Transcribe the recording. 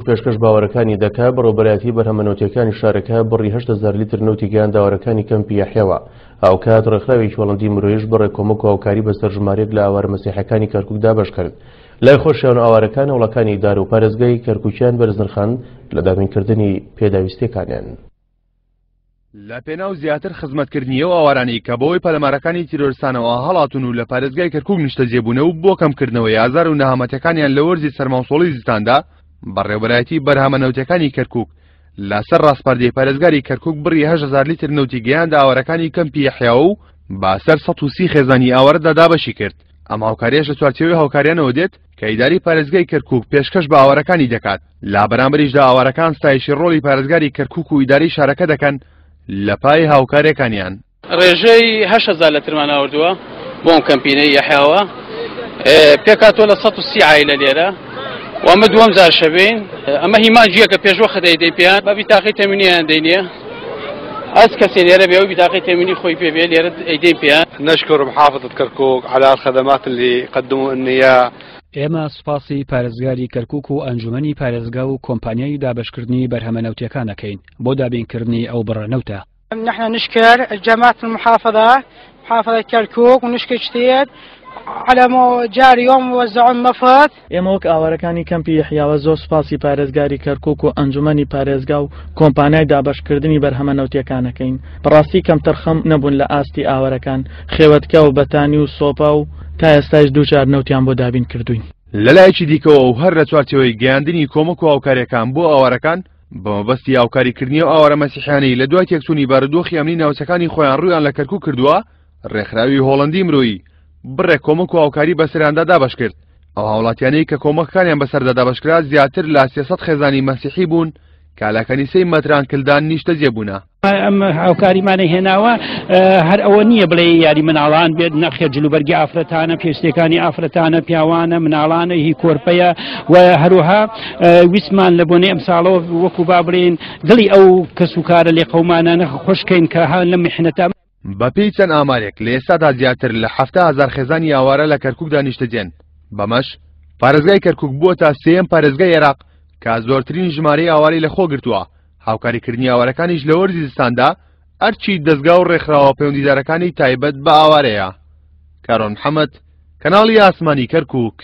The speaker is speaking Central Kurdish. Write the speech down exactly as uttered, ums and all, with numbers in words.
پێشکەش بە ئاوارەکانی دەکا. بەڕێوەبەرایەتی بەرهەمە نەوتیەکانی شارەکە بڕی هەشت هەزار لیتر نەوتی گەیاندە ئاوارەکانی کەمپی یەحیاوە. هاوکات ڕێکخراوێکی هۆڵەندی مرۆیش بڕێک کۆمەک و هاوکاری بەسەر ژمارەیەک لە ئاوارە مەسیحەکانی کەرکوک دابەش کرد. لای خۆشیان و ئاوارەکان هەوڵەکانی ئیدارە و پارێزگای کەرکوکیان بەرز نرخاند لە دابینکردنی پێداویستیەکانیان. لە پێناو زیاتر خزمەتکردنی ئەو ئاوارانەی کە بەهۆی پەلەمارەکانی تیرۆرستانەوە هەڵاتون و لە پارێزگای کەرکوک نیشتەجێ بوونە و بۆ کەمکردنەوەی ئازار و نەهامەتەکانیان لە وەرزی سەرماوسۆڵی زستاندا، بەڕێوەبەرایەتی بەرهەمە نەوتەکانی کەرکوک لەسەر ڕاسپاردەی پارێزگاری کەرکوک بڕی هەشت هەزار لیتر نەوتی گەیاندە ئاوارەکانی کەمپی یەحیاوە و بەسەر سەد و سی خێزانی ئاوارەدا دابەشی کرد. ئەم هاوکاریەش لە چوارچێوەی هاوکاریانەوە دێت کە ئیداری پارێزگای کەرکوک پێشکەش بە ئاوارەکانی دەکات. لە بەرامبەریشدا ئاوارەکان ستایشی ڕۆڵی پارێزگاری کەرکوک و ئیداری شارەکە دەکەن لە پای هاوکاریەکانیان. ڕێژەی هەشت هەزار لەترمان ئاوردووە بۆ ئەم کەمپینەی یەحیاوە، پێکاتەوە لە سەد و سی عایلە لێرە و ئەمە دووەم جار شەبین. ئەمە هیمانجیە کە پێشوەخت دەیدەین پێیان، بە بیتاقی تەمینیان دەینێ، ئەس کەسێ لێرە بێ و بیتاقی تەمینی خۆی پێ بێ لێرە ئەیدەین پێیان. نشكر محافظة كركوك على الخدمات اللي قدموا لنا اياها. ئێمە سوپاسی پارێزگاری کەرکوک و ئەنجومەنی پارێزگا و کۆمپانیای دابەشکردنی بەرهەمە نەوتیەکان دەکەین بۆ دابینکردنی ئەو بڕە نەوتە. نحن نشكر جماعة المحافظة محافظة كركوك ونشكر كثير على جاري يوم وزعوا النفط. ئێمە وەک ئاوارەکانی کەمپی یەحیاوە زۆر سوپاسی پارێزگاری کەرکوک و ئەنجومەنی پارێزگا و کۆمپانیای دابەشکردنی بەرهەمە نەوتیەکانەکەین. بەڕاستی کەمتەرخەم نەبوون لە ئاستی ئاوارەکان، خێوەتکە و بەتانی و سۆپا و تا ئێستایش دوو جار نەوتیان بۆ دابین کردوین. لەلایەکی دیکەوە و هەر لە چوارچێوەی گەیاندنی کۆمەک و هاوکاریەکان بۆ ئاوارەکان بە مەبەستی هاوکاریکردنی ئەو ئاوارە مەسیحیانەی لە دوای تێکچوونی بارودۆخی ئەمنی ناوچەکانی خۆیان ڕوویان لە کەرکوک کردووە، ڕێکخراوی هۆڵەندی مرۆیی بڕێک کۆمەک و هاوکاری بەسەریاندا دابەش کرد. ئەو هاوڵاتیانەی کە کۆمەکەکانیان بەسەردا دابەشکرا زیاتر لە سێ سەد خێزانی مەسیحی بوون کە لە کەنیسەی مەتران کلدان نیشتەجێ بوونە. ئەم هاوکاریمانە هێناوە هەر ئەوە نییە بڵێ یاری مناڵان بێت، نەخێر جلوبەرگی ئافرەتانە، پێشتەکانی ئافرەتانە، پیاوانە، مناڵانە، هی کۆرپەیە و هەروەها ویستمان لە بۆنەی ئەمساڵەوە وەکو با بڵێن دڵی ئەو کەس و کارە لێقەومانانە خۆشکەین کە ها لە میحنەتە. بەپێی چەند ئامارێک لە ئێستادا زیاتر لە حەفتا هەزار خێزانی ئاوارە لە کەرکوکدا نیشتەجێن. بەمەش پارێزگای کەرکوک بووە تا سێیەم پارێزگای عێراق کە زۆرترین ژمارەی ئاوارەی لەخۆ گرتووە. هاوکاریکردنی ئاوارەکانیش لە وەرزی زستاندا ئەرچی دەستگا و ڕێکخراوە پەیوەندیدارەکانی تایبەت بە ئاوارەیە. کارۆن محەممەد، کەناڵی ئاسمانی کەرکوک.